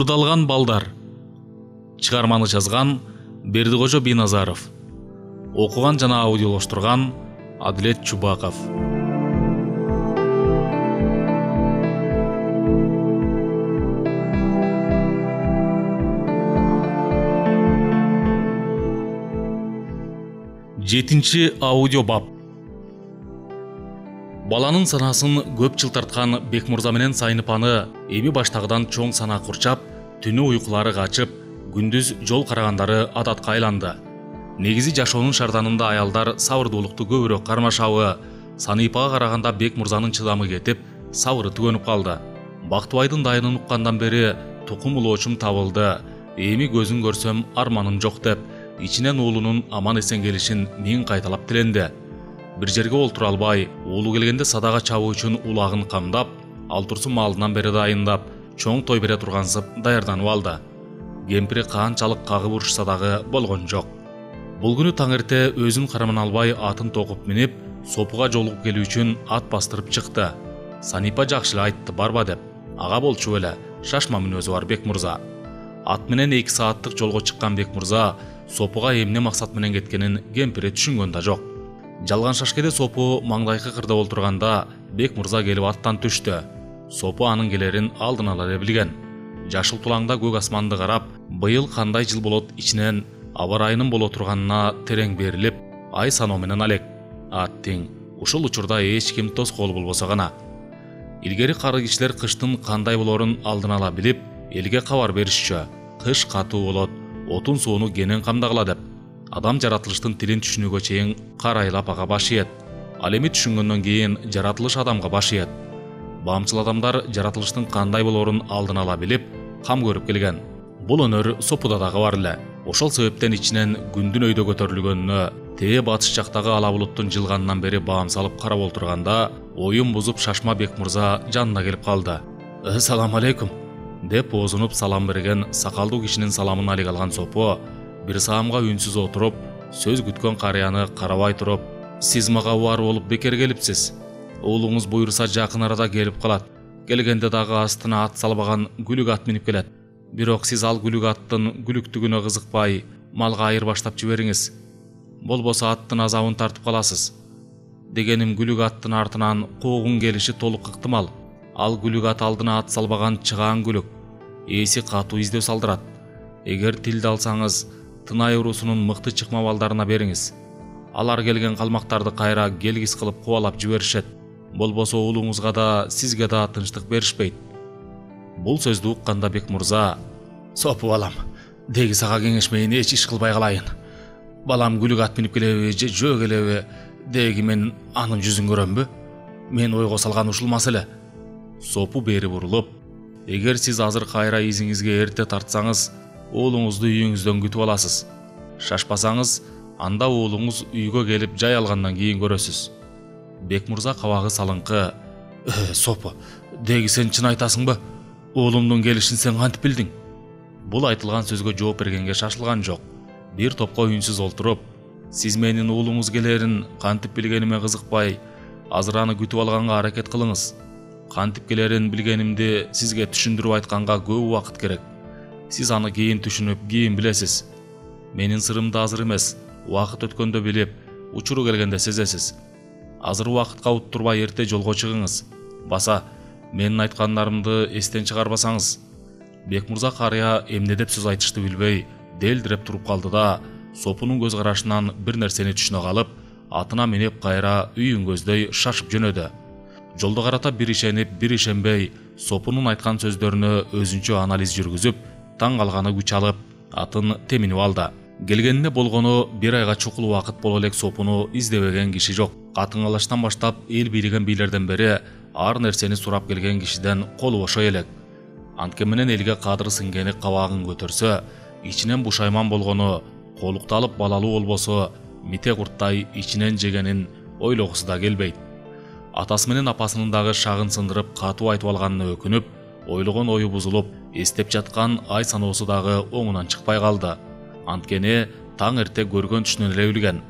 Мурдалган балдар. Чыгарманы жазган Бердикожо Бийназаров. Окуган жана аудиолоштурган Адилет Чубаков. Жетинчи аудио бап. Баланын санасын көп жыл тарткан Бекмурза менен Сайныпаны эми баштагыдан чоң сана курчап, түнү уйкулары качып, күндүз жол карагандары адатка айланды. Негизи жашоонун шарданында аялдар сабырдуулукту көбүрөөк кармашабы, Саныйпага караганда Бекмурзанын чыдамы кетип, сабыры түгөнүп калды. Бактыбайдын дайынын уккандан бери тукум улоочум табылды. Эми көзүн көрсөм арманым жок деп, ичинен уулунун аман эсен келишин миң кайталап тиленди. Бир жерге олтура албай, уулу келгенде садага чабуу үчүн улагын камдап, ал турсун малынан бери дайындап, чоң той бере тургансып даярданып алды. Кемпири канчалык кагып урушса дагы болгон жок. Бул күнү таң эрте өзүн кармана албай атын токуп минип, Сопуга жолугуп келүү үчүн ат бастырып чыкты. Саныйпа жакшы эле айтты барба деп. Ага болчу эле, шашма мүнөзү бар Бекмурза. Ат менен 2 сааттык жолго чыккан Бекмурза Сопуга эмне максат менен кеткенин кемпири түшүнгөн да жок. Жалган шашкеде Сопу маңдайкы кырда олтурганда Бекмурза келип аттан түштү. Сопу анын келерин алдын ала эле билген. Жашыл тулаңда көк асманды карап, быйыл кандай жыл болот ичинен аба ырайынын боло турганына терең берилип, ай саноо менен алек. Аттиң, ушул учурда эч ким тоскоол болбосо гана. Илгери кары кишилер кыштын кандай болорун алдын ала билип, элге кабар беришчү. Кыш катуу болот, отун сууну кенен камдагыла деп. Адам жаратылыштын тилин түшүнүүгө чейин карайлап ага баш ийет. Ал эми түшүнгөндөн кийин жаратылыш адамга баш ийет. Баамчыл адамдар жаратылыштын кандай болорун алдын ала билип, кам көрүп келген. Бул өнөр Сопуда дагы бар эле. Ошол себептен ичинен күндүн өйдө көтөрүлгөнүнө, тээ батыш жактагы ала булуттун жылганынан бери баам салып карап олтурганда, оюн бузуп шашма Бекмурза жанына келип калды. Салам алейкум деп оозунуп салам берген сакалдуу кишинин саламын алек алган Сопу бир саамга үнсүз отуруп, сөз күткөн карыяны карабай туруп, сиз мага убар болуп бекер келипсиз. Уулуңуз буйруса жакын арада келип калат. Келгенде дагы астына ат салбаган күлүк ат минип келет. Бирок сиз ал күлүк аттын күлүктүгүнө кызыкпай, малга айыр баштап жибериңиз. Болбосо аттын азабын тартып каласыз. Дегеним күлүк аттын артынан куугун келиши толук ыктымал. Ал күлүк ат алдына ат салбаган чыгаан күлүк. Эси катуу издөө салдырат. Эгер тилди алсаңыз, Тынай урусунун мыкты чыкма балдарына бериңиз. Алар келген калмактарды кайра келгис кылып кубалап жиберишет. Болбосо уулуңузга да, сизге да тынчтык беришпейт. Бул сөздү укканда Бекмурза: Сопу балам, деги сага кеңешмейин эч иш кылбай калайын. Балам күлүк ат минип келеби же жөө келеби, деги мен анын жүзүн көрөмбү? Мен ойго салган ушул маселе. Сопу бери бурулуп: эгер сиз азыр кайра изиңизге эрте тартсаңыз, уулуңузду үйүңүздөн күтүп аласыз. Шашпасаңыз, анда уулуңуз үйгө келип жай алгандан кийин көрөсүз. Бекмурза кабагы салыңкы: Сопу, деги сен чын айтасыңбы? Уулумдун келишин сен кантип билдиң? Бул айтылган сөзгө жооп бергенге шашылган жок. Бир топко үнсүз олтуруп: сиз менин уулуңуз келерин кантип билгениме кызыкпай, азыр аны күтүп алганга аракет кылыңыз. Кантип келерин билгенимди сизге түшүндүрүп айтканга көп убакыт керек. Сиз аны кийин түшүнүп, кийин билесиз. Менин сырымды азыр эмес, убакыт өткөндө билип, учуру келгенде сезесиз. Азыр убакытка уттурбай эрте жолго чыгыңыз. Баса, менин айткандарымды эстен чыгарбасаңыз. Бекмурза карыя эмне деп сөз айтышты билбей, делдиреп туруп калды да, Сопунун көз карашынан бир нерсени түшүнө калып, атына минип кайра үйүн көздөй шашып жөнөдү. Жолдо карата бир ишенип, бир ишенбей, Сопунун айткан сөздөрүнө өзүнчө анализ жүргүзүп, таң калганы күч алып, атын теминип алды. Келгенине болгону бир айга чукул убакыт боло элек Сопуну издебеген киши жок. Катын калаштан баштап эл бийлеген бийлерден бери ар нерсени сурап келген кишиден колу бошой элек. Антке менен элге кадыры сиңгени кабагын көтөрсө, ичинен бушайман болгону, колукту алып балалуу болбосо, мите курттай ичинен жегенин ойлогусу да келбейт. Атасы менен апасынын дагы шагын сындырып катуу айтып алганына өкүнүп, ойлогон ою бузулуп, эстеп жаткан ай саноосу дагы оңунан чыкпай калды. Анткени таң эрте көргөн түшүнөн эле билген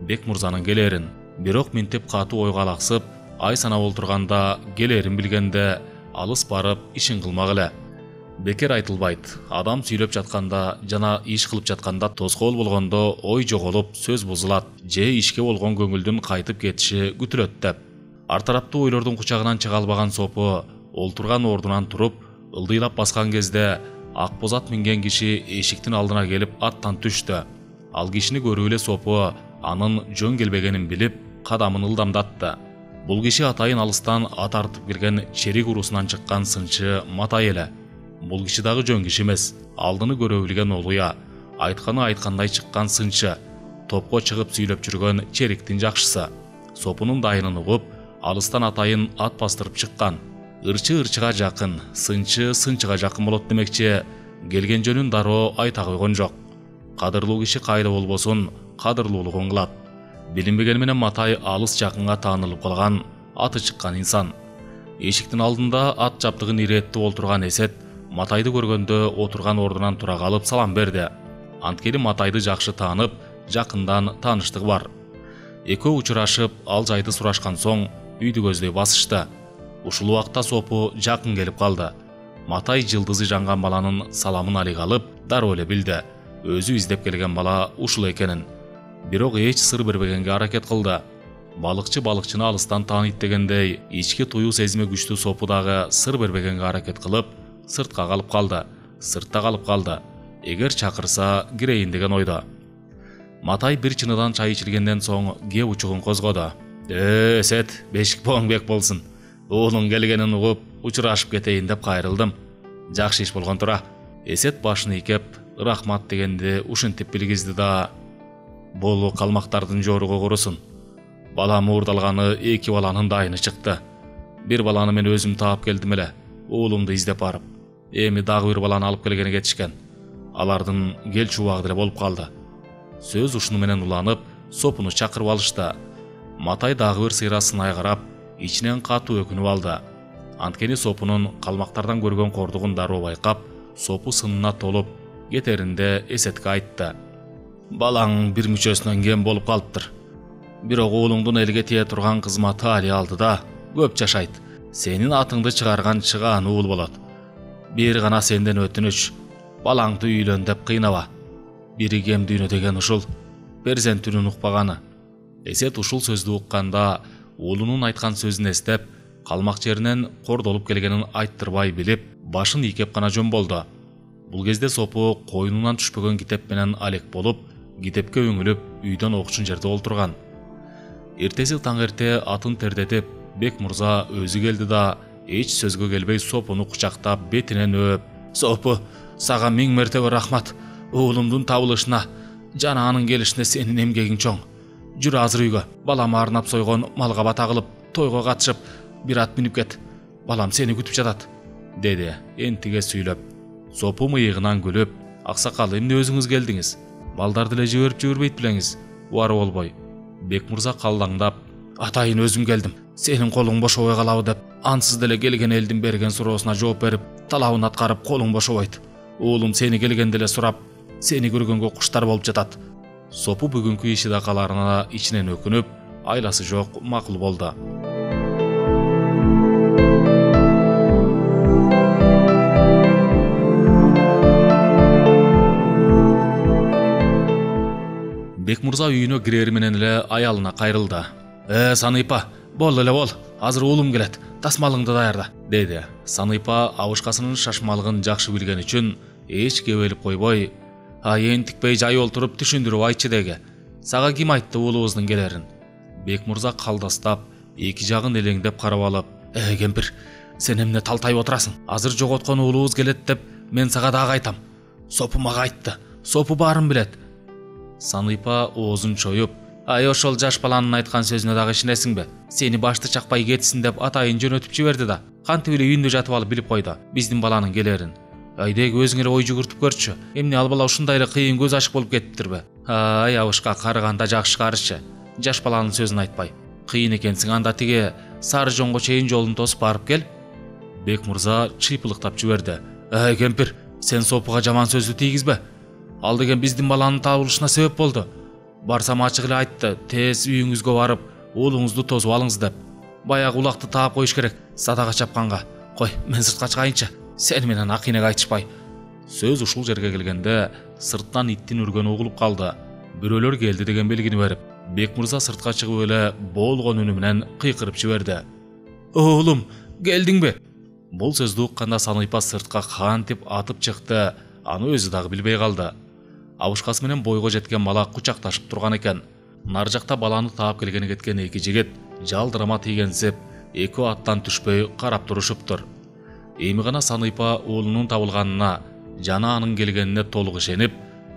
Бекмурзанын келерин. Бирок минтип катуу ойго алаксып, ай санап олтурганда келерин билгенде алыс барып ишин кылмак эле. Бекер айтылбайт. Адам сүйлөп жатканда жана иш кылып жатканда тоскоол болгондо ой жоголуп, сөз бузулат же ишке болгон көңүлдүн кайтып кетиши күтүлөт деп. Ар тараптуу ойлордун кучагынан чыга албаган Сопу олтурган ордунан туруп, ылдыйлап баскан кезде ак боз ат минген киши эшиктин алдына келип аттан түштү. Ал кишини көрүп эле Сопу анын жөн келбегенин билип, кадамын ылдамдатты. Бул киши атайын алыстан ат артып келген черик урусунан чыккан сынчы Матай эле. Бул киши дагы жөн киши эмес. Алдыны көрө билген олуя, айтканы айткандай чыккан сынчы, топко чыгып сүйлөп жүргөн чериктин жакшысы. Сопунун дайынын угуп, алыстан атайын ат бастырып чыккан. Ырчы ырчыга жакын, сынчы сынчыга жакын болот демекчи, келген жөнүн дароо айта койгон жок. Кадырлуу киши кайда болбосун, кадырлуулугун кылат. Билинбегени менен Матай алыс жакынга таанылып калган, аты чыккан инсан. Эшиктин алдында ат жаптыгын иреттип олтурган Эсет Матайды көргөндө отурган ордунан тура калып салам берди. Анткени Матайды жакшы таанып, жакындан тааныштыгы бар. Экөө учурашып, ал жайды сурашкан соң үйдү көздөй басышты. Ушул убакта Сопу жакын келип калды. Матай жылдызы жанган баланын саламын алыг алып, дароо эле билди. Өзү издеп келген бала ушул экенин. Бирок эч сыр бербегенге аракет кылды. Балыкчы балыкчыны алыстан тааныйт дегендей, ички туюу сезими күчтүү Сопу дагы сыр бербегенге аракет кылып, сыртка калып калды. Сыртта калып калды. Эгер чакырса кирейин деген ойдо. Матай бир чыныдан чай ичилгенден соң кеп учугун козгоду. Эсет, бешик боң бек болсун. Уулуң келгенин угуп, учурашып кетейин деп кайрылдым. Жакшы иш болгон тура. Эсет башын ийкеп, рахмат дегенди ушинтип билгизди да, болу калмактардын жоругу курусун. Бала муурдалганы 2 баланын дайыны чыкты. Бир баланы мен өзүм таап келдим эле, уулумду издеп барып. Эми дагы бир баланы алып келгени кетишкен. Алардын келчү убагы деле болуп калды. Сөз ушуну менен уланып, Сопуну чакырып алышты. Матай дагы бир сыйра сынай карап, ичинен катуу өкүнүп алды. Анткени Сопунун калмактардан көргөн кордугун дароо байкап, Сопу сынына толуп, кетеринде Эсетке айтты. Балаң бир мүчөсүнөн кем болуп калыптыр. Бирок уулуңдун элге тие турган кызматы али алдыда көп жашайт. Сенин атыңды чыгарган чыгаан уул болот. Бир гана сенден өтүнүч, балаңды үйлөн деп кыйнаба. Бири кем дүйнө деген ушул, перзентүнүн укпаганы. Эсет ушул сөздү укканда, уулунун айткан сөзүн эстеп, калмак жеринен кордолуп келгенин айттырбай билип, башын ийкеп гана жөн болду. Бул кезде Сопу койнунан түшпөгөн китеп менен алек болуп, китепке өңүлүп, үйдөн окчун жерде олтурган. Эртеси таң эрте атын тердетип, Бек мурза өзү келди да, эч сөзгө келбей Сопуну кучактап, бетинен өөп, "Сопу, сага миң мертебе рахмат. Уулумдун табылышына жана анын келишине сенин эмгегиң чоң. Жүр азыр үйгө. Балам арнап сойгон малга бата кылып, тойго катышып, бир ат минип кет. Балам сени күтүп жатат", деди энтиге сүйлөп. Сопу мыйыгынан күлүп, "Аксакал, эмне өзүңүз келдиңиз? Балдарды эле жиберип жүрбөйт белеңиз. Убары болбой." Бек мурза калдаңдап, "Атайын өзүм келдим. Сенин колуң бошобой калабы" деп, ансыз деле келген элдин берген суроосуна жооп берип, талабын аткарып колуң бошобойт. Уулум сени келгенде эле сурап, сени көргөнгө куштар болуп жатат." Сопу бүгүнкү иши да каларына ичинен өкүнүп, айласы жок макул болду. Бек мурза үйүнө кирери менен эле аялына кайрылды. Саныйпа, бол эле бол, азыр уулум келет, тасмалыңды даярда", деди. Саныйпа абышкасынын шашмалыгын жакшы билген үчүн эч кебелип койбой, "Энтикпей жай олтуруп түшүндүрүп айтчы деги. Сага ким айтты уулубуздун келерин?" Бек мурза калдастап, эки жагын элеңдеп карап алып, "Кемпир, сен эмне талтайып отурасың? Азыр жоготкон уулубуз келет деп мен сага дагы айтам. Сопу мага айтты. Сопу баарын билет." Саныйпа оозун чоюп, "Ошол жаш баланын айткан сөзүнө дагы ишенесиңби? Сени башты чакпай кетсин деп атайын жөнөтүп жиберди да. Кантип эле үйүндө жатып алып билип койду биздин баланын келерин. Деги өзүң эле ой жүгүртүп көрчү. Эмне ал бала ушундай эле кыйын көз ачык болуп кетиптирби? Абышка карыганда жакшы карычы. Жаш баланын сөзүн айтпай. Кыйын экенсиң, анда тиги Сары жоңго чейин жолун тосуп барып кел." Бек мурза чыйпылыктап жиберди. "Кемпир, сен Сопуга жаман сөздү тийгизбе. Ал деген биздин баланын табылышына себеп болду. Барсам ачык эле айтты, тез үйүңүзгө барып, уулуңузду тосуп алыңыз деп. Баягы улакты таап коюш керек, садага чапканга. Кой, мен сыртка чыгайынчы. Сен менен акынеге айтышпай. Сөз ушул жерге келгенде сырттан иттин үргөнү угулуп калды. Бирөөлөр келди деген белгини берип, Бекмырза сыртка чыгып эле болгон үнү менен кыйкырып жиберди. Оолум, келдиңби? Бул сөздү укканда Саныйпа сыртка кантип атып чыкты, аны өзү дагы билбей калды. Абышкасы менен бойго жеткен бала кучакташып турган экен. Нар жакта баланы таап келгени кеткен эки жигит жалдырама тийгенсип, эки аттан түшпөй карап турушуптур. Эми гана Саныйпа уулунун табылганына жана анын келгенине толук ишенип,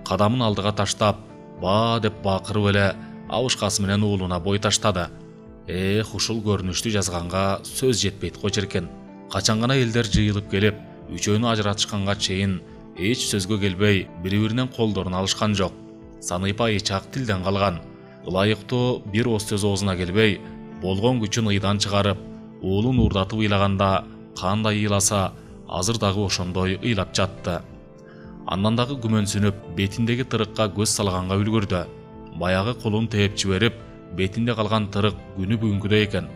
кадамын алдыга таштап, ба деп бакырып эле абышкасы менен уулуна бой таштады. Ушул көрүнүштү жазганга сөз жетпейт го черкен. Качан гана элдер жыйылып келип, үчөөнү ажыратышканга чейин эч сөзгө келбей, бири-биринен колдорун алышкан жок. Саныйпа эчак тилден калган. Ылайыктуу бир ос сөз оозуна келбей, болгон күчүн ыйдан чыгарып, уулун уурдатып ыйлаганда кандай ыйласа, азыр дагы ошондой ыйлап жатты. Андан дагы күмөнсүнүп, бетиндеги тырыкка көз салганга үлгүрдү. Баягы колун тээп жиберип, бетинде калган тырык күнү бүгүнкүдөй экен.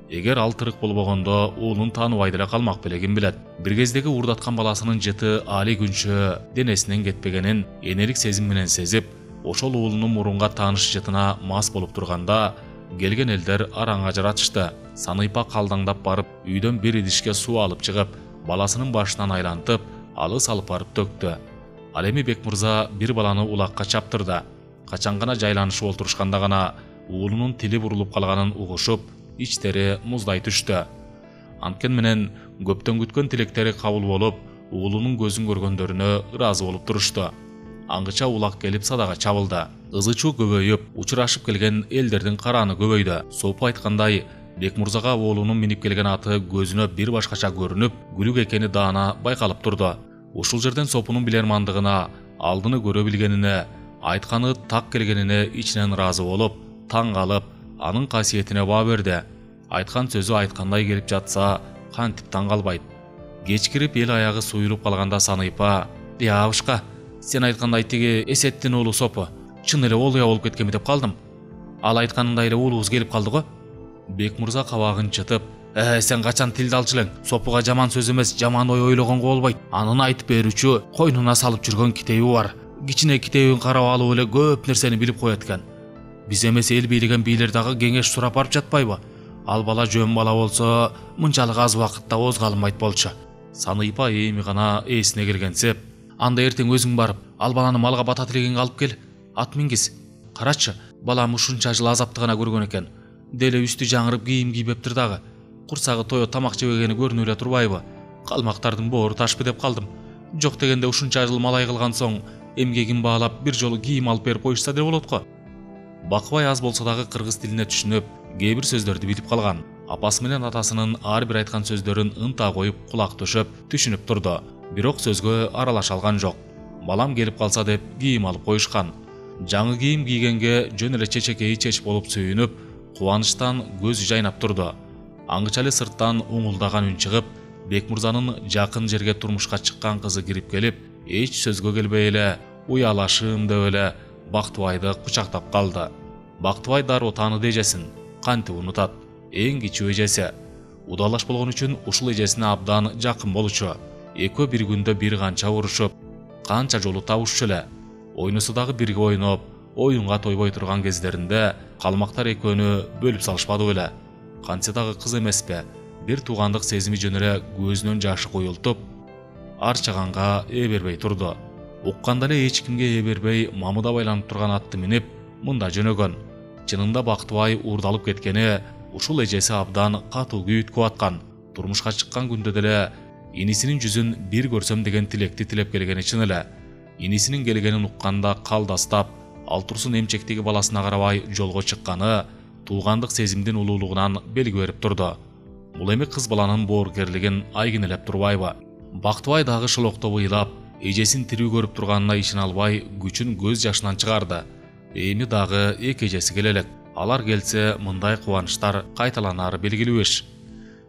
Эгер ал тырык болбогондо уулун тааныбай деле калмак беле ким билет. Бир кездеги уурдаткан баласынын жыты али күнчө денесинен кетпегенин энелик сезим менен сезип, ошол уулунун мурунга тааныш жытына мас болуп турганда, келген элдер араң ажыратышты. Саныйпа калдаңдап барып, үйдөн бир идишке суу алып чыгып, баласынын башынан айлантып, алыс алып барып төктү. Ал эми Бекмырза бир баланы улакка чаптырды. Качан гана жайланышып олтурушканда гана уулунун тили бурулуп калганын угушуп, ичтери муздай түштү. Анткени менен көптөн күткөн тилектери кабыл болуп, уулунун көзүн көргөндөрүнө ыраазы болуп турушту. Аңгыча улак келип садага чабылды. Ызы-чуу көбөйүп, учурашып келген элдердин карааны көбөйдү. Сопу айткандай, Бекмырзага уулунун минип келген аты көзүнө бир башкача көрүнүп, күлүк экени даана байкалып турду. Ушул жерден Сопунун билермандыгына, алдыны көрө билгенине, айтканы так келгенине ичинен ыраазы болуп, таң калып, анын касиетине баа берди. Айткан сөзү айткандай келип жатса, кантип таң калбайт. Кечкирип эл аягы суюлуп калганда Саныйпа, абышка, сен айткандай тиги Эсеттин уулу Сопу, чын эле олуя болуп кеткенби деп калдым. Ал айтканындай эле уулубуз келип калды го. Бекмырза кабагын чытып, сен качан тилди алчу элең? Сопуга жаман сөз эмес, жаман ой ойлогонго болбойт. Анын айтып берүүчү койнуна салып жүргөн китеби бар. Кичине китебин карап алып эле көп нерсени билип коет экен. Биз эмес эл бийлеген бийлер дагы кеңеш сурап барып жатпайбы? Ал бала жөн бала болсо, мынчалык аз убакытта озго алынбайт болчу. Саныйпа эми гана эсине келгенсип, анда эртең өзүң барып, ал баланы малга бата тилегенге алып кел, ат мингиз. Карачы, балам ушунча жыл азапты гана көргөн экен. Деле үстү жаңырып кийим кийбептир дагы. Курсагы тоё тамак жебегени көрүнүп эле турбайбы? Калмактардын боору ташпы деп калдым. Жок дегенде ушунча жыл малай кылган соң, эмгегин баалап бир жолу кийим алып берип коюшса деле болот го. Бакыбай аз болсо дагы кыргыз тилине түшүнүп, кээ бир сөздөрдү билип калган. Апасы менен атасынын ар бир айткан сөздөрүн ынта коюп кулак түшүп, түшүнүп турду. Бирок сөзгө аралаша алган жок. Балам келип калса деп кийим алып коюшкан. Жаңы кийим кийгенге жөн эле чечекейи чеч болуп сүйүнүп, кубанычтан көзү жайнап турду. Аңгыча эле сырттан уңулдаган үн чыгып, Бекмырзанын жакын жерге турмушка чыккан кызы кирип келип, эч сөзгө келбей эле, уялашым деп эле Бактыбайды кучактап калды. Бактыбай дароо тааныды эжесин, кантип унутат, эң кичүү эжеси. Удалаш болгон үчүн ушул эжесине абдан жакын болчу. Экөө бир күндө бир канча урушуп, канча жолу табышчу эле. Ойнусу дагы бирге ойноп, оюнга тойбой турган кездеринде калмактар экөөнү бөлүп салышпады беле. Кантсе дагы кыз эмеспи? Бир туугандык сезими жөн эле көзүнөн жашы куюлтуп, арчаганга ээ бербей турду. Укканда эле эч кимге ээ бербей, мамыда байланып турган атты минип, мында жөнөгөн. Чынында Бактыбай уурдалып кеткени ушул эжеси абдан катуу күйүткүп аткан. Турмушка чыккан күндө деле инисинин жүзүн бир көрсөм деген тилекти тилеп келгени чын эле. Инисинин келгенин укканда калдастап, ал турсун эмчектеги баласына карабай жолго чыкканы туугандык сезимдин улуулугунан белги берип турду. Бул эми кыз баланын боорукерлигин айгинелеп турбайбы? Бактыбай дагы шолоктоп ыйлап, эжесин тирүү көрүп турганына ишене албай, күчүн көз жашынан чыгарды. Эми дагы эки эжеси келелек. Алар келсе, мындай кубанычтар кайталанары белгилүү эш.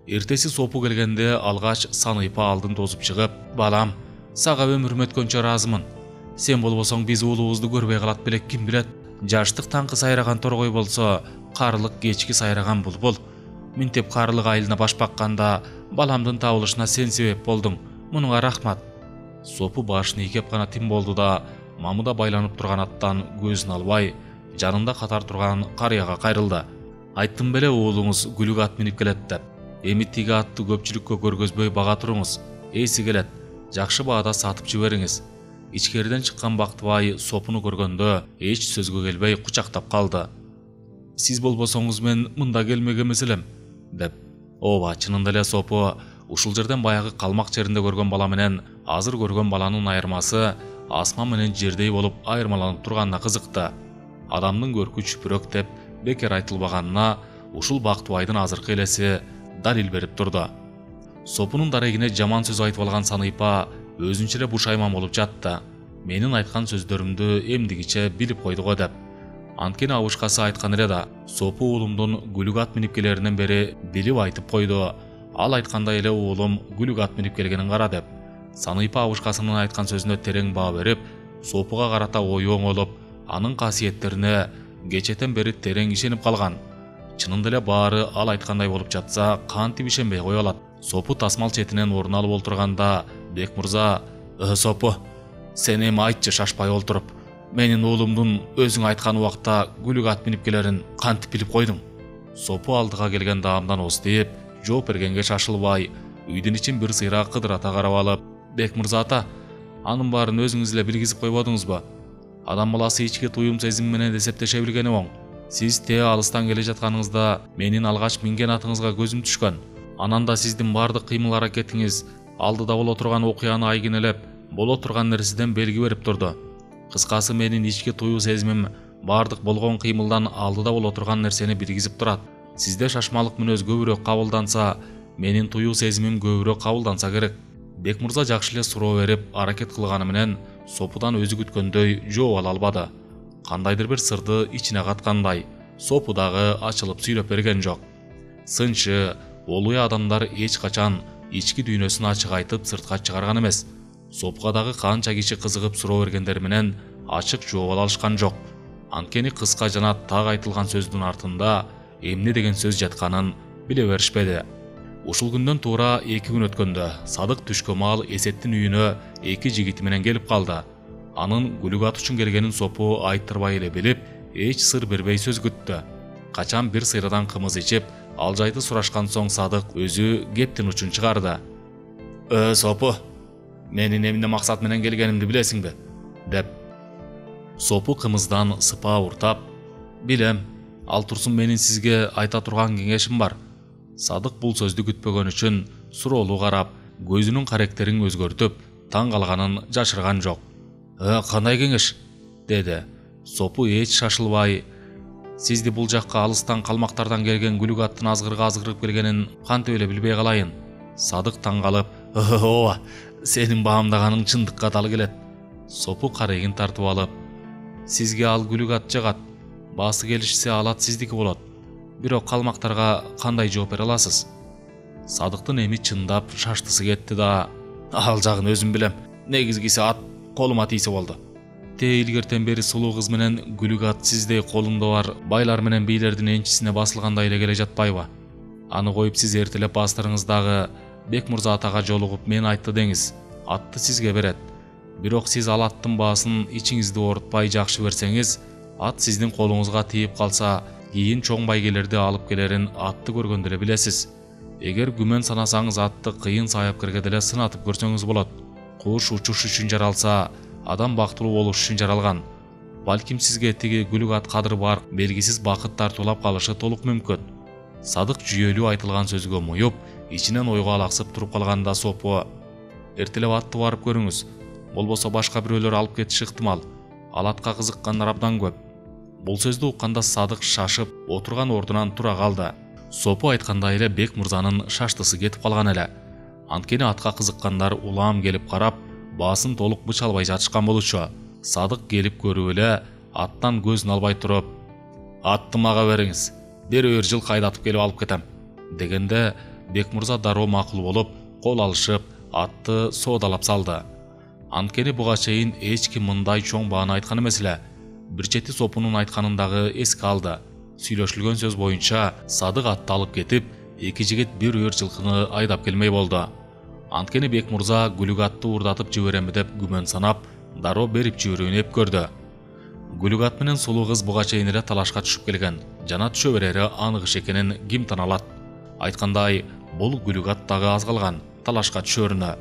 Эртеси Сопу келгенде алгач Саныйпа алдын тосуп чыгып, балам, сага өмүрүм өткөнчө ыраазымын. Сен болбосоң биз уулубузду көрбөй калат белек ким билет. Жаштык таңкы сайраган торгой болсо, карылык кечки сайраган булбул. Минтеп карылык айылына баш бакканда, баламдын табылышына сен себеп болдуң. Мунуңа рахмат. Сопу башын ийкеп гана тим болду да, мамыда байланып турган аттан көзүн албай, жанында катар турган карыяга кайрылды. Айттым беле уулуңуз күлүк ат минип келет деп. Эми тиги атты көпчүлүккө көргөзбөй бага туруңуз. Эси келет. Жакшы баада сатып жибериңиз. Ичкериден чыккан Бактыбай Сопуну көргөндө эч сөзгө келбей кучактап калды. Сиз болбосоңуз мен мында келмек эмес элем, деп. Ооба, чынында эле Сопу ушул жерден баягы калмак жеринде көргөн бала менен азыр көргөн баланын айырмасы асман менен жердей болуп айырмаланып турганына кызыкты. Адамдын көркү чүпүрөк деп бекер айтылбаганына ушул Бактыбайдын азыркы элеси далил берип турду. Сопунун дарегине жаман сөз айтып алган Саныйпа өзүнчө эле бушайман болуп жатты. Менин айткан сөздөрүмдү эмдигиче билип койду го деп. Анткени абышкасы айткан эле да, Сопу уулумдун күлүк ат минип келеринен бери билип айтып койду. Ал айткандай эле уулум күлүк ат минип келгенин кара деп. Саныйпа абышкасынын айткан сөзүнө терең баа берип, Сопуга карата ою оңолуп, анын касиеттерине кечетен бери терең ишенип калган. Чынында эле баары ал айткандай болуп жатса, кантип ишенбей кое алат? Сопу тасмал четинен орун алып олтурганда Бекмурза: Сопу, сен эми айтчы шашпай олтуруп. Менин уулумдун өзүң айткан убакта күлүк ат минип келерин кантип билип койдуң? Сопу алдыга келген даамдан ооздеп, жооп бергенге шашылбай, үйдүн ичин бир сыйра кыдырата карап алып: Бекмурза ата, анын баарын өзүңүз эле билгизип койбодуңузбу? Адам баласы ички туюм сезим менен эсептеше билгени оң. Сиз те алыстан келе жатканыңызда менин алгач минген атыңызга көзүм түшкөн. Анан да сиздин бардык кыймыл аракетиңиз алдыда боло турган окуяны айгинелеп, боло турган нерседен белги берип турду. Кыскасы, менин ички туюу сезимим бардык болгон кыймылдан алдыда боло турган нерсени билгизип турат. Сизде шашмалык мүнөз көбүрөөк кабылданса, менин туюу сезимим көбүрөөк кабылданса керек. Бекмурза жакшы эле суроо берип, аракет кылганы менен Сопудан өзү күткөндөй жооп ала албады. Кандайдыр бир сырды ичине каткандай, Сопу дагы ачылып сүйлөп берген жок. Сынчы, олуя адамдар эч качан ички дүйнөсүн ачык айтып сыртка чыгарган эмес. Сопуга дагы канча киши кызыгып суроо бергендери менен ачык жооп ала алышкан жок. Анткени кыска жана так айтылган сөздүн артында эмне деген сөз жатканын биле беришпеди. Ушул күндөн туура 2 күн өткөндө Садык түшкө маал Эсеттин үйүнө 2 жигити менен келип калды. Анын күлүк ат үчүн келгенин Сопу айттырбай эле билип, эч сыр бербей сөз күттү. Качан бир сыйрадан кымыз ичип, ал жайды сурашкан соң Садык өзү кептин учун чыгарды. Сопу, менин эмне максат менен келгенимди билесиңби? Деп. Сопу кымыздан сыпаа уртап: Билем, ал турсун, менин сизге айта турган кеңешим бар. Садык бул сөздү күтпөгөн үчүн суроолуу карап, көзүнүн каректерин өзгөртүп, таң калганын жашырган жок. Кандай кеңеш? Деди. Сопу эч шашылбай: Сизди бул жакка алыстан калмактардан келген күлүк аттын азгырып келгенин кантип эле билбей калайын? Садык таң калып: Ооба, сенин баамдаганың чындыкка дал келет. Сопу карегин тартып алып: Сизге ал күлүк ат жагат. Баасы келишсе алат сиздики болот. Бирок калмактарга кандай жооп бере аласыз? Садыктын эми чындап шаштысы кетти да: Ал жагын өзүм билем. Негизгиси ат колума тийсе болду. Те илгертен бери сулуу кыз менен күлүк ат сиздей колунда бар байлар менен бийлердин энчисине басылгандай эле келе жатпайбы? Аны коюп сиз эртелеп бастырыңыздагы Бекмурза атага жолугуп мен айтты деңиз, атты сизге берет. Бирок сиз ал аттын баасын ичиңизди оорутпай жакшы берсеңиз, ат сиздин колуңузга тийип калса, кийин чоң байгелерди алып келерин атты көргөндө эле билесиз. Эгер күмөн санасаңыз, атты кыйын саапкерге деле сынатып көрсөңүз болот. Куш учуш үчүн жаралса, адам бактылуу болуш үчүн жаралган. Балким сизге тиги күлүк ат кадыры бар белгисиз бакыт тартуулап калышы толук мүмкүн. Садык жүйөлүү айтылган сөзгө муюп, ичинен ойго алаксып туруп калганда Сопу: Эртелеп атты барып көрүңүз. Болбосо башка бирөөлөр алып кетиши ыктымал. Ал атка кызыккандар абдан көп. Бул сөздү укканда Садык шашып, отурган ордунан тура калды. Сопу айткандай эле Бекмурзанын шаштысы кетип калган эле. Анткени атка кызыккандар улам келип карап, баасын толук быч албай жатышкан болчу. Садык келип көрүп эле аттан көзүн албай туруп: Атты мага бериңиз, бир жыл кайдатып келип алып кетем, дегенде Бекмурза дароо макул болуп, кол алышып, атты соодалап салды. Анткени буга чейин эч ким мындай чоң бааны айткан эмес эле. Бир чети Сопунун айтканын дагы эске алды. Сүйлөшүлгөн сөз боюнча Садык атты алып кетип, 2 жигит бир жылкыны айдап келмей болду. Анткени Бек мурза Күлүк атты уурдатып жиберемби деп күмөн санап, дароо берип жиберүүнү эп көрдү. Күлүк ат менен сулуу кыз буга чейин эле талашка түшүп келген, жана түшө берери анык иш экенин ким таналат. Айткандай, бул Күлүк ат дагы аз калган талашка түшөрүнө.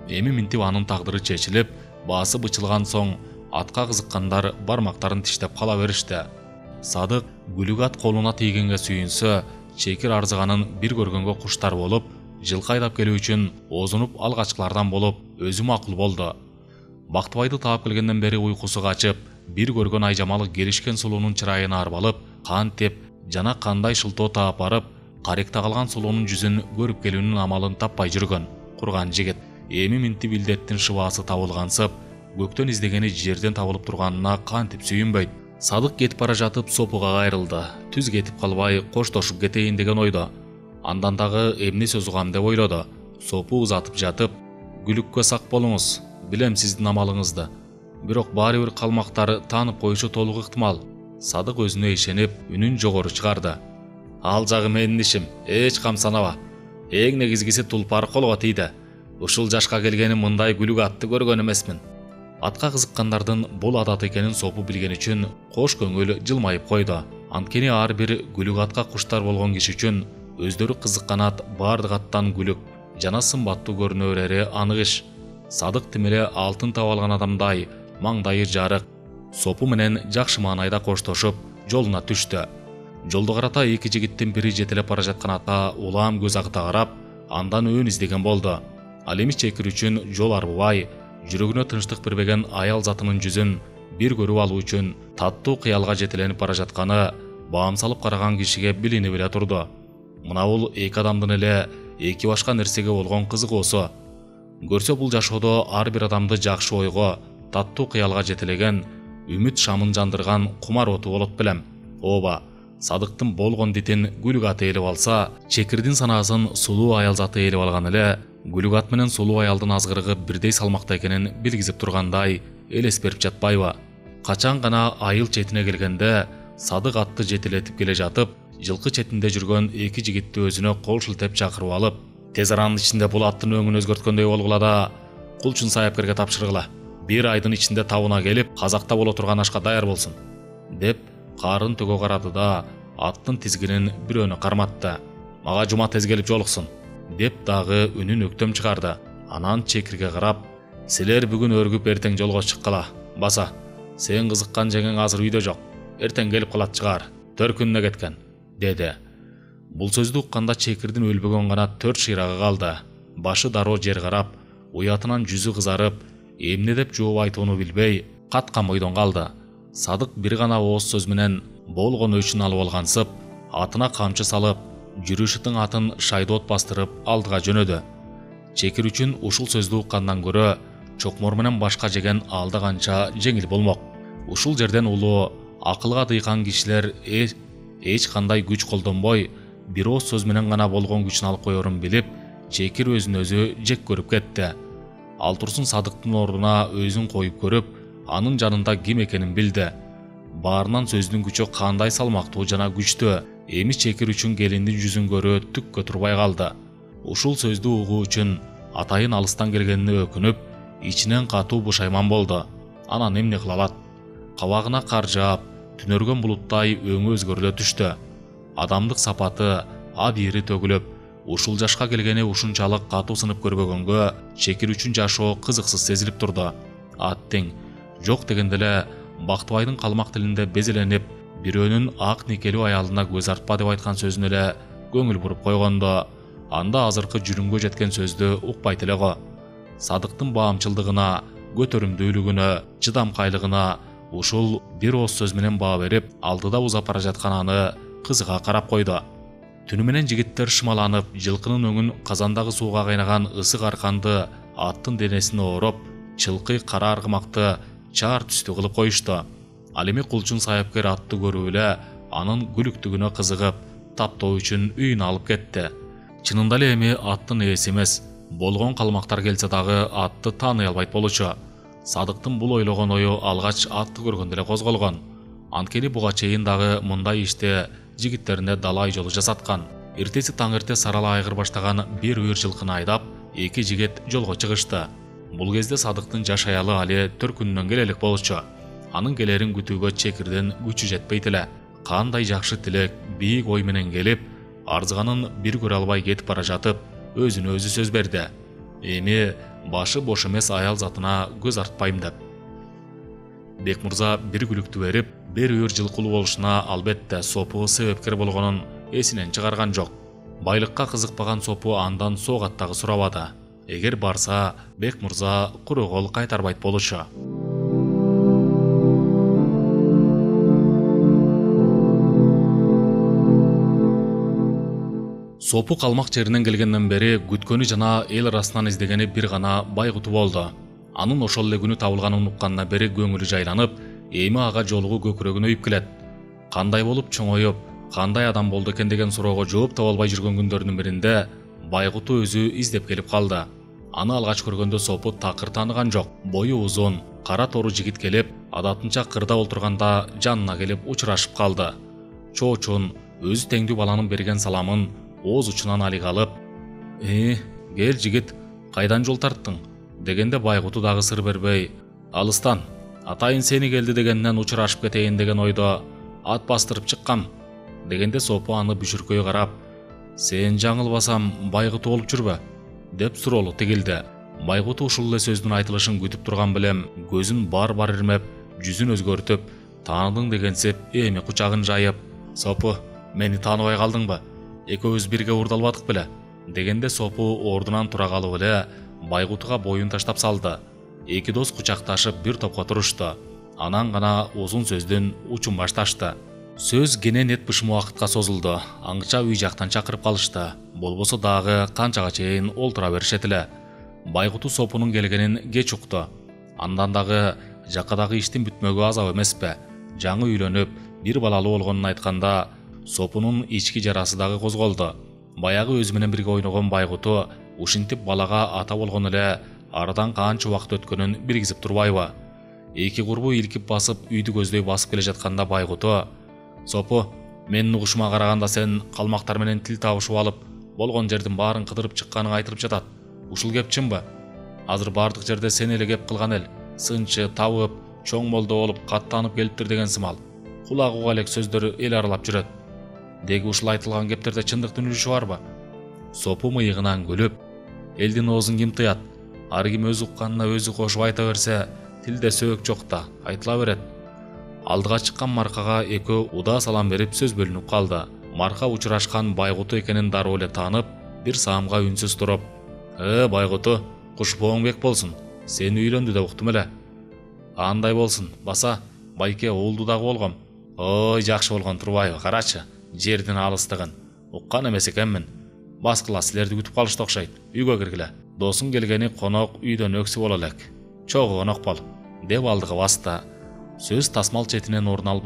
Эми минтип анын тагдыры чечилип, баасы бычылган соң атка кызыккандар бармактарын тиштеп кала беришти. Садык Күлүк ат колуна тийгенге сүйүнсө, чекир арзыганын бир көргөнгө куштар болуп, жылкы айдап келүү үчүн озунуп алгачкылардан болуп, өзү макул болду. Бактыбайды таап келгенден бери уйкусу качып, бир көргөн айжамалы келишкен сулуунун чырайына арбалып, кантип жана кандай шылтоо таап барып, каректе калган сулуунун жүзүн көрүп келүүнүн амалын таппай жүргөн курган жигит. Эми минтип илдеттин шыбаасы табылгансып, көктөн издегени жерден табылып турганына кантип сүйүнбөйт. Садык кетип бара жатып сопуга кайрылды. Түз кетип калбай коштошуп кетейин деген ойдо. Андан дагы эмне сөз угам деп ойлоду. Сопу узатып жатып, Күлүккө сак болуңуз, билем сиздин амалыңызды. Бирок баары бир калмактар таанып коюшу толук ыктымал. Садык өзүнө ишенип, үнүн жогору чыгарды. Ал жагы менин ишим, эч кам санаба. Эң негизгиси тулпар колго тийди. Ушул жашка келгени мындай Күлүк атты көргөн эмесмин. Атка кызыккандардын бул адат экенин Сопу билген үчүн кош көңүл жылмайып койду. Анткени ар бир Күлүк атка куштар болгон киши үчүн өздөрү кызыккан ат бардык аттан күлүк жана сымбаттуу көрүнө берери анык иш. Садык тим эле алтын таап алган адамдай маңдайы жарык, Сопу менен жакшы маанайда коштошуп, жолуна түштү. Жолду карата эки жигиттин бири жетелеп бара жаткан атка улам көз агыта карап, андан өн издеген болду. Ал эми чекир үчүн жол арбыбай, жүрөгүнө тынчтык бербеген аял затынын жүзүн бир көрүп алуу үчүн таттуу кыялга жетеленип бара жатканы баам салып караган кишиге билинип эле турду. Мына бул эки адамдын эле эки башка нерсеге болгон кызыгуусу. Көрсө бул жашоодо ар бир адамды жакшы ойго, таттуу кыялга жетелеген, үмүт шамын жандырган кумар оту болот белем. Ооба, Садыктын болгон дитин Күлүк аты ээлеп алса, чекирдин санаасын сулуу аял заты ээлеп алган эле, Күлүк ат менен сулуу аялдын азгырыгы бирдей салмакта экенин билгизип тургандай элес берип жатпайбы? Качан гана айыл четине келгенде, Садык атты жетелетип келе жатып, жылкы четинде жүргөн эки жигитти өзүнө кол шилтеп чакырып алып, тез аранын ичинде бул аттын өңүн өзгөрткөндөй болгула да, кулчун саяпкерге тапшыргыла. Бир айдын ичинде табына келип, казакта боло турган ашка даяр болсун, деп карын төгө карады да, аттын тизгинин бирөөнө карматты. Мага жума тез келип жолуксун, деп дагы үнүн өктөм чыгарды. Анан чекирге карап, силер бүгүн өргүп эртең жолго чыккыла. Баса, сен кызыккан жеңең азыр үйдө жок. Эртең келип калат чыгар. 4 күнүнө кеткен, деди. Бул сөздү укканда чекирдин өлбөгөн гана 4 шыйрагы калды. Башы дароо жер карап, уятынан жүзү кызарып, эмне деп жооп айтууну билбей, каткан бойдон калды. Садык бир гана ооз сөз менен болгон өчүн алып алгансып, атына камчы салып, жүрүшүтүн атын шайдоот бастырып алдыга жөнөдү. Чекир үчүн ушул сөздү уккандан көрө, чокмор менен башка жеген алда канча жеңил болмок. Ушул жерден улуу, акылга дыйкан кишилер эч кандай күч колдонбой, бир ооз сөз менен гана болгон күчүн алып коерун билип, чекир өзүн өзү жек көрүп кетти. Ал турсун Садыктын ордуна өзүн коюп көрүп, анын жанында ким экенин билди. Баарынан сөздүн күчү кандай салмактуу жана күчтүү. Эми чекир үчүн келиндин жүзүн көрүү түккө турбай калды. Ушул сөздү угуу үчүн атайын алыстан келгенине өкүнүп, ичинен катуу бушайман болду. Анан эмне кыла алат? Кабагына кар жаап, түнөргөн булуттай өңү өзгөрүлө түштү. Адамдык сапаты абийири төгүлүп, ушул жашка келгени ушунчалык катуу сынып көрбөгөнгө чекир үчүн жашоо кызыксыз сезилип турду. Аттың жок дегенде эле Бактыбайдын калмак тилинде безеленип, бирөөнүн ак никелүү аялына көз артпа деп айткан сөзүнө эле көңүл буруп койгондо, анда азыркы жүрүмгө жеткен сөздү укпайт эле го. Садыктын баамчылдыгына, көтөрүмдүүлүгүнө, чыдамкайлыгына ушул бир ооз сөз менен баа берип, алдыда узап бара жаткан аны кызыга карап койду. Түнү менен жигиттер шымаланып, жылкынын өңүн казандагы сууга кайнаган ысык арканды аттын денесине ороп, чылкый кара аргымакты чаар түстү кылып коюшту. Ал эми кулчун саяпкер атты көрүп эле анын күлүктүгүнө кызыгып, таптоо үчүн үйүнө алып кетти. Чынында эле эми аттын ээси эмес, болгон калмактар келсе дагы атты тааный албайт болчу. Садыктын бул ойлогон ою алгач атты көргөндө эле козголгон. Анткени буга чейин дагы мындай иште жигиттерине далай жолу жасаткан. Эртеси таң эрте сарала айгыр баштаган бир үйүр жылкыны айдап, эки жигит жолго чыгышты. Бул кезде Садыктын жаш аялы али 4 күнүнөн келелик болчу. Анын келерин күтүүгө чекирден күчү жетпейт эле. Кандай жакшы тилек, бийик ой менен келип, арзыганын бир көрө албай кетип бара жатып, өзүнө өзү сөз берди. Эми башы бош эмес аял затына көз артпайм деп. Бекмурза бир күлүктү берип, бир үйүр жылкылуу болушуна албетте Сопу себепкер болгонун эсинен чыгарган жок. Байлыкка кызыкпаган Сопу андан соогат дагы сурабады. Эгер барса, Бекмурза куру кол кайтарбайт болчу. Сопу калмак жеринен келгенден бери күткөнү жана эл арасынан издегени бир гана Байгуту болду. Анын ошол эле күнү табылганын уккандан бери көңүлү жайланып, эми ага жолугу көкүрөгүнө үйүп келет. Кандай болуп чоңоюп, кандай адам болду экен деген суроого жооп таба албай жүргөн күндөрдүн биринде Байгуту өзү издеп келип калды. Аны алгач көргөндө Сопу такыр тааныган жок. Бою узун, кара тору жигит келип, адатынча кырда отурганда жанына келип учурашып калды. Чоочун өзү теңдүү баланын берген саламын ооз учунан алига алып, кел жигит, кайдан жол тарттың? Дегенде Байгуту дагы сыр бербей, алыстан, атайын сени келди дегенден учурашып кетейин деген ойдо ат бастырып чыккам. Дегенде Сопу аны бүшүркөй карап, сен жаңылбасам Байгуту болуп жүрбө? Деп суроолу тигилди. Байгуту ушул эле сөздүн айтылышын күтүп турган белем, көзүн бар-бар ирмеп, жүзүн өзгөртүп, тааныдың дегенсип, эми кучагын жайып, Сопу, мени тааныбай калдыңбы? Экөөбүз бирге уурдалбадык беле? Дегенде Сопу ордунан тура калып эле Байгутуга боюн таштап салды. Эки дос кучакташып бир топко турушту. Анан гана узун сөздүн учун башташты. Сөз кенен эт бышым убакытка созулду. Аңча үй жактан чакырып калышты. Болбосо дагы канчага чейин олтура беришет эле. Байгуту Сопунун келгенин кеч укту. Андан дагы жакадагы иштин бүтмөгү азап эмеспи? Жаңы үйлөнүп, бир балалуу болгонун айтканда Сопунун ички жарасы дагы козголду. Баягы өзү менен бирге ойногон Байгуту ушинтип балага ата болгон эле арадан канча убакыт өткөнүн билгизип турбайбы? Эки курбу илкип басып үйдү көздөй басып келе жатканда Байгуту, Сопу, менин угушума караганда сен калмактар менен тил табышып алып, болгон жердин баарын кыдырып чыкканың айтылып жатат. Ушул кеп чынбы? Азыр бардык жерде сен эле кеп кылган эл. Сынчы табып, чоң молдо болуп каттанып келиптир деген сымал. Кулак уга элек сөздөр эл аралап жүрөт. Деги ушул айтылган кептерде чындыктын үрүшү барбы? Сопу мыйыгынан күлүп, элдин оозун ким тыят? Ар ким өз укканына өзү кошуп айта берсе, тилде сөök жок да, айтыла берет. Алдыга чыккан Маркага экөө удаа салам берип сөз бөлүнүп калды. Марка учурашкан Байгуту экенин дароо эле таанып, бир саамга үнсүз туруп, Байгуту, кушпооң бек болсун. Сени үйлөндү деп уктум эле. Андай болсун, баса, байке уулду дагы болгом. Ой, жакшы болгон турбайбы, карачы. Жердин алыстыгын уккан эмес экенмин. Баскыла силерди күтүп калышты окшойт. Үйгө киргиле. Досуң келгени конок үйдөн өксү боло элек. Чогуу конок бол, деп алдыга басты. Сөз тасмал четинен орун алып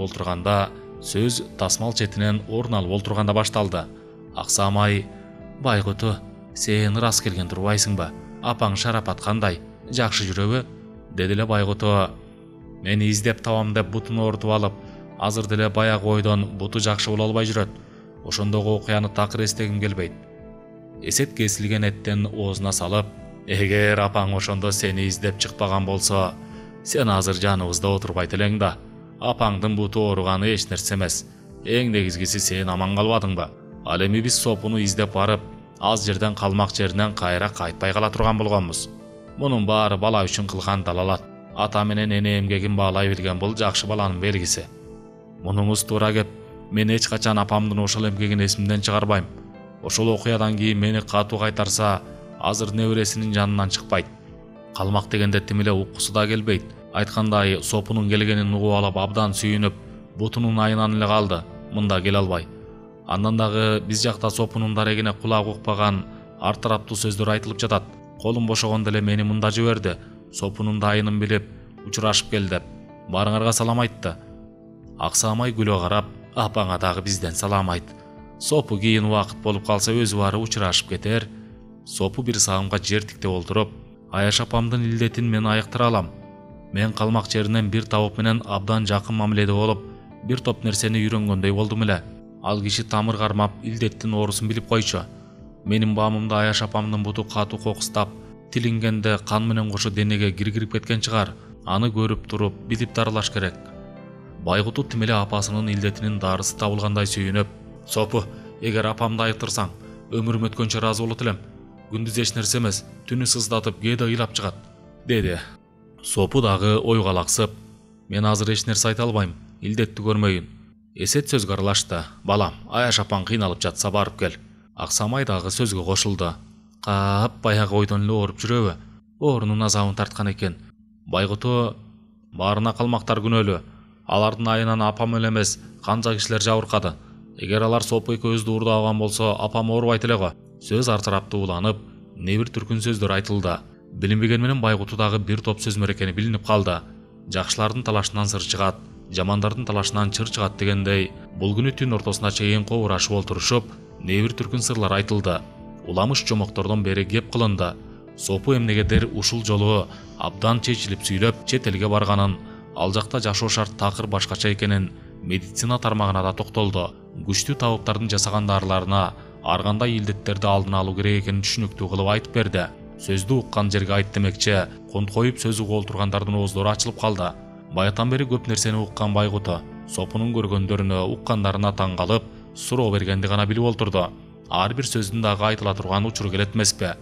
олтурганда башталды. Аксамай, Байгуту, сен ырас келген турбайсыңбы? Апаң Шарапат кандай? Жакшы жүрөбү? Деди эле Байгуту. Мени издеп табам деп бутун оорутуп алып, азыр деле баягы ойдон буту жакшы боло албай жүрөт. Ошондогу окуяны такыр эстегим келбейт. Эсет кесилген эттен оозуна салып, эгер апаң ошондо сени издеп чыкпаган болсо, сен азыр жаныбызда отурбайт элең да. Апаңдын буту ооруганы эч нерсе эмес. Эң негизгиси сен аман калбадыңбы? Ал эми биз Сопуну издеп барып, аз жерден калмак жеринен кайра кайтпай кала турган болгонбуз. Мунун баары бала үчүн кылган далалат. Ата менен эне эмгегин баалай билген бул жакшы баланын белгиси. Мунуңуз туура кеп, мен эч качан апамдын ошол эмгегин эсимден чыгарбайм. Ошол окуядан кийин мени катуу кайтарса, азыр небересинин жанынан чыкпайт. Калмак дегенде тим эле уккусу да келбейт. Айткандай, Сопунун келгенин угуп алып абдан сүйүнүп, бутунун айынан эле калды. Мында келе албай. Андан дагы биз жакта Сопунун дарегине кулак укпаган ар тараптуу сөздөр айтылып жатат. Колум бошогондо эле мени мында жиберди. Сопунун дайынын билип, учурашып кел деп. Барыңарга салам айтты. Аксамай күлө карап, апаңа дагы бизден салам айт. Сопу кийин убакыт болуп калса өзү бары учурашып кетер. Сопу бир саамга жер тиктеп олтуруп, Аяш апамдын илдетин мен айыктыра алам. Мен калмак жеринен бир табып менен абдан жакын мамиледе болуп, бир топ нерсени үйрөнгөндөй болдум эле. Ал киши тамыр кармап илдеттин оорусун билип койчу. Менин баамымда Аяш апамдын буту катуу кокустап, тилингенде кан менен кошо денеге киргирип кеткен чыгар. Аны көрүп туруп билип дарылаш керек. Байгуту тим эле апасынын илдетинин дарысы табылгандай сүйүнүп, "Сопу, эгер апамды айыктырсаң, өмүрүм өткөнчө ыраазы болот элем. Күндүз эч нерсе эмес, түнү сыздатып, кээде ыйлап чыгат", деди. Сопу дагы ойго алаксып, "Мен азыр эч нерсе айта албайм, илдетти көрмөйүн." Эсет сөзгө аралашты. "Балам, Аяш апаң кыйналып жатса барып кел." Аксамай дагы сөзгө кошулду. "Кап баягы ойдон эле ооруп жүрөбү? Оорунун азабын тарткан экен. Байгуту баарына калмактар күнөөлүү. Алардын айынан апам эле эмес, канча кишилер жабыркады. Эгер алар Сопу экөөбүздү уурдабаган болсо, апам оорубайт эле го." Сөз артырап тууланып, не бир түркүн сөздөр айтылды. Билинбеген менен Байгуту дагы бир топ сөз мерекени билинип калды. Жакшылардын талашынан сыр чыгат, жамандардын талашынан чыр чыгат дегендей, бул күнү түн ортосуна чейин кобурашып олтурушуп, не бир түркүн сырлар айтылды. Уламыш жомоктордон бери кеп кылынды. Сопу эмнегедир ушул жолу абдан чечилип сүйлөп, чет элге барганын, ал жакта жашоо шарт такыр башкача экенин, медицина тармагына да токтолду. Күчтүү табыптардын жасаган дарыларына ар кандай илдеттерди алдын алуу керек экенин түшүнүктүү кылып айтып берди. Сөздү уккан жерге айт демекчи, конт коюп сөз угуп олтургандардын ооздору ачылып калды. Баятан бери көп нерсени уккан Байгуту Сопунун көргөндөрүнө, уккандарына таң калып, суроо бергенди гана билип олтурду. Ар бир сөздүн дагы айтыла турган учуру келет эмеспи?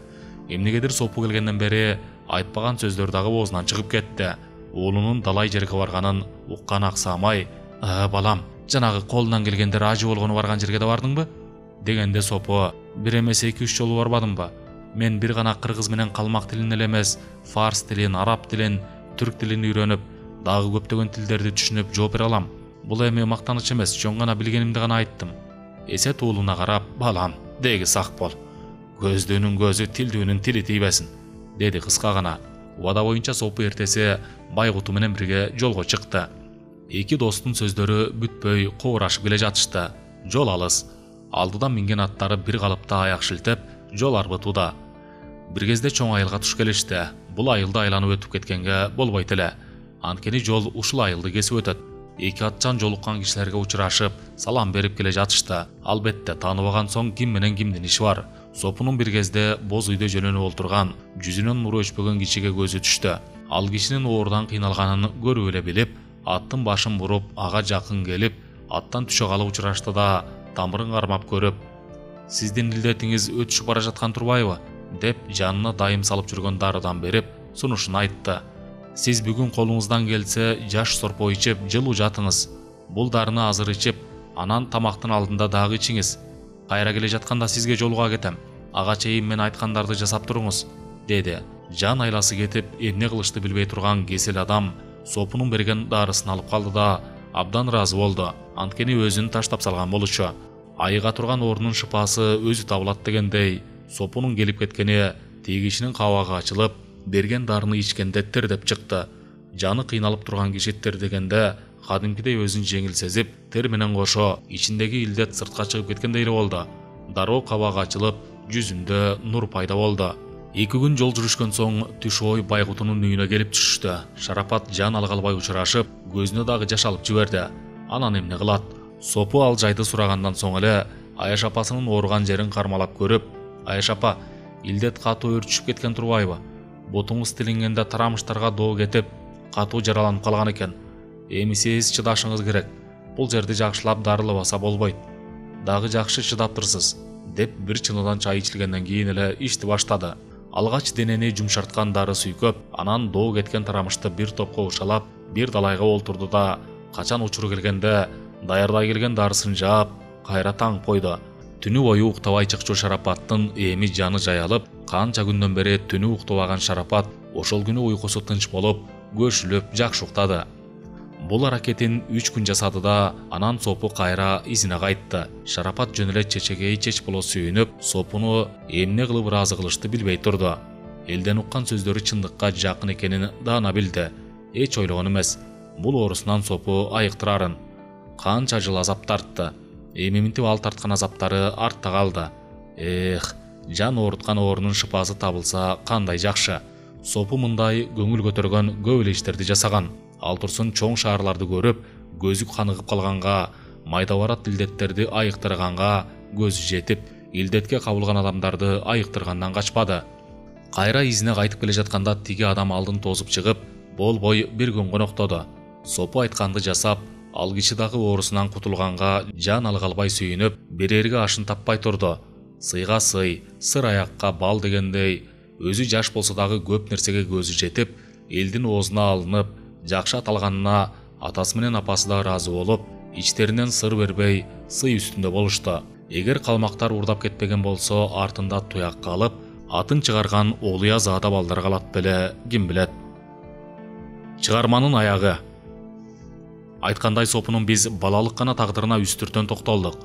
Эмнегедир Сопу келгенден бери айтпаган сөздөр дагы оозунан чыгып кетти. Уулунун далай жерге барганын уккан Аксамай, "Балам, жанагы колунан келгенде ажы болгону барган жерге да бардыңбы?" дегенде Сопу, "Бир эмес 2-3 жолу барбадымбы? Мен бир гана кыргыз менен калмак тилин эле эмес, фарс тилин, араб тилин, түрк тилин үйрөнүп, дагы көптөгөн тилдерди түшүнүп жооп бере алам. Бул эми мактаныч эмес, жөн гана билгенимди гана айттым." Эсет уулуна карап, "Балам, деги сак бол. Көздүүнүн көзү, тилдүүнүн тили тийбесин", деди кыска гана. Убада боюнча Сопу эртеси Байгуту менен бирге жолго чыкты. Эки достун сөздөрү бүтпөй кобурашып келе жатышты. Жол алыс. Алдыдан минген аттары бир калыпта аяк шилтеп, жол арбытууда. Бир кезде чоң айылга туш келишти. Бул айылды айланып өтүп кеткенге болбойт эле. Анткени жол ушул айылды кесип өтөт. Эки атчан жолуккан кишилерге учурашып, салам берип келе жатышты. Албетте тааныбаган соң ким менен кимдин иши бар. Сопунун бир кезде боз үйдө жөнөнүп олтурган, жүзүнөн нуру өчпөгөн кишиге көзү түштү. Ал кишинин оорудан кыйналганын көрүп эле билип, аттын башын буруп, ага жакын келип, аттан түшө калып учурашты да, тамырын кармап көрүп, "Сиздин илдетиңиз өтүшүп бара жаткан турбайбы?" деп жанына дайым салып жүргөн дарыдан берип, сунушун айтты. "Сиз бүгүн колуңуздан келсе, жаш сорпо ичип, жылуу жатыңыз. Бул дарыны азыр ичип, анан тамактын алдында дагы ичиңиз. Кайра келе жатканда сизге жолуга кетем. Ага чейин мен айткандарды жасап туруңуз", деди. Жан айласы кетип, эмне кылышты билбей турган кесел адам Сопунун берген дарысын алып калды да, абдан ыраазы болду. Анткени өзүн таштап салган болчу. Айыга турган оорунун шыпасы өзү табылат дегендей, Сопунун келип кеткени тиги кишинин кабагы ачылып, берген дарыны ичкенде тердеп чыкты. Жаны кыйналып турган киши тердегенде кадимкидей өзүн жеңил сезип, тер менен кошо ичиндеги илдет сыртка чыгып кеткендей эле болду. Дароо кабагы ачылып, жүзүндө нур пайда болду. 2 күн жол жүрүшкөн соң түш ой Байгутунун үйүнө келип түшүштү. Шарапат жан алга албай учурашып, көзүнө дагы жаш алып жиберди. Анан эмне кылат? Сопу ал жайды сурагандан соң эле Аяш апасынын ооруган жерин кармалап көрүп, "Аяш апа, илдет катуу өрчүшүп кеткен турбайбы? Бутуңуз тилингенде тарамыштарга доо кетип, катуу жараланып калган экен. Эми сиз чыдашыңыз керек. Бул жерди жакшылап дарылабаса болбойт. Дагы жакшы чыдаптырсыз", деп бир чыныдан чай ичилгенден кийин эле ишти баштады. Алгач денени жумшарткан дары сүйкөп, анан доо кеткен тарамышты бир топко ушалап, бир далайга олтурду да, качан учуру келгенде даярдай келген дарысын жаап, кайра таңып койду. Түнү бою уктабай чыкчу Шарапаттын эми жаны жаялып, канча күндөн бери түнү уктабаган Шарапат ошол күнү уйкусу тынч болуп, көшүлүп жакшы уктады. Бул аракетин 3 күн жасады да, анан Сопу кайра изине кайтты. Шарапат жөн эле чечегей чеч боло сүйүнүп, Сопуну эмне кылып ыраазы кылышты билбей турду. Элден уккан сөздөрү чындыкка жакын экенин даана билди. Эч ойлогон эмес, бул оорусунан Сопу айыктырарын. Канча жыл азап тартты. Эми минтип ал тарткан азаптары артта калды. Жан ооруткан оорунун шыпасы табылса кандай жакшы. Сопу мындай көңүл көтөргөн көп эле иштерди жасаган. Ал турсун чоң шаарларды көрүп, көзү каныгып калганга, майда барат илдеттерди айыктырганга көзү жетип, илдетке кабылган адамдарды айыктыргандан качпады. Кайра изине кайтып келе жатканда тиги адам алдын тосуп чыгып, болбой бир күн коноктоду. Сопу айтканды жасап, ал киши дагы оорусунан кутулганга жан алга албай сүйүнүп, берерге ашын таппай турду. Сыйга сый, сыр аякка бал дегендей, өзү жаш болсо дагы көп нерсеге көзү жетип, элдин оозуна алынып, жакшы аталганына атасы менен апасы да ыраазы болуп, ичтеринен сыр бербей, сый үстүндө болушту. Эгер калмактар урдап кетпеген болсо, артында туяк калып, атын чыгарган Олуя заада балдар калат беле, ким билет. Чыгарманын аягы. Айткандай Сопунун биз балалык гана тагдырына үстүртөн токтолдук.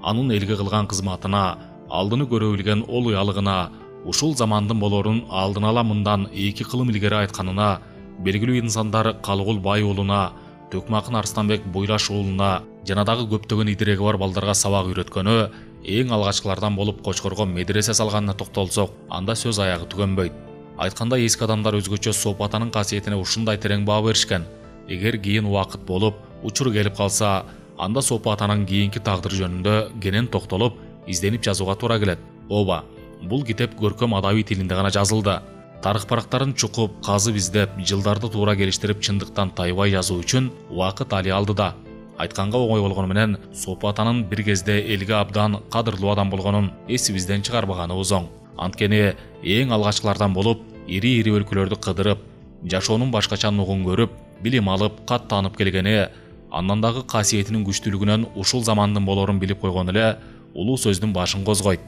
Анын элге кылган кызматына, алдыны көрө билген олуялыгына, ушул замандын болорун алдын ала мындан 2 кылым илгери айтканына, белгилүү инсандар Калыгул Бай уулуна, Төкмакын Арстанбек Буйлаш уулуна жана дагы көптөгөн идиреги бар балдарга сабак үйрөткөнү, эң алгачкылардан болуп Кочкорго медресе салганына токтолсок, анда сөз аягы түгөнбөйт. Айткандай эски адамдар өзгөчө Сопу атанын касиетине ушундай терең баа беришкен. Эгер кийин убакыт болуп, учур келип калса, анда Сопу атанын кийинки тагдыры жөнүндө кенен токтолуп, изденип жазууга туура келет. Ооба, бул китеп көркөм адабий тилинде гана жазылды. Тарых барактарын чукуп, казып издеп, жылдарды туура келиштирип, чындыктан тайбай жазуу үчүн убакыт али алды да. Айтканга оңой болгону менен, Сопу атанын бир кезде элге абдан кадырлуу адам болгонун эсибизден чыгарбаганыбыз оң. Анткени эң алгачкылардан болуп, ири-ири өлкөлөрдү кыдырып, жашоонун башкача нугун көрүп, билим алып, кат таанып келгени, андан дагы касиетинин күчтүүлүгүнөн ушул замандын болорун билип койгон эле улуу сөздүн башын козгойт.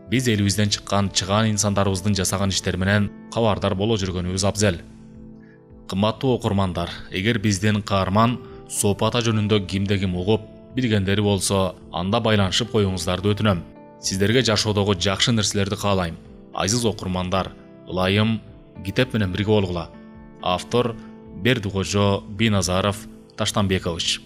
Биз элибизден чыккан чыгаан инсандарыбыздын жасаган иштери менен кабардар боло жүргөнүбүз абзел. Кымбаттуу окурмандар, эгер биздин каарман Сопу ата жөнүндө кимде ким угуп, билгендери болсо, анда байланышып коюңуздарды өтүнөм. Сиздерге жашоодогу жакшы нерселерди каалайм. Азиз окурмандар, ылайым китеп менен бирге болгула. Автор Бердикожо Биназаров Таштанбекович.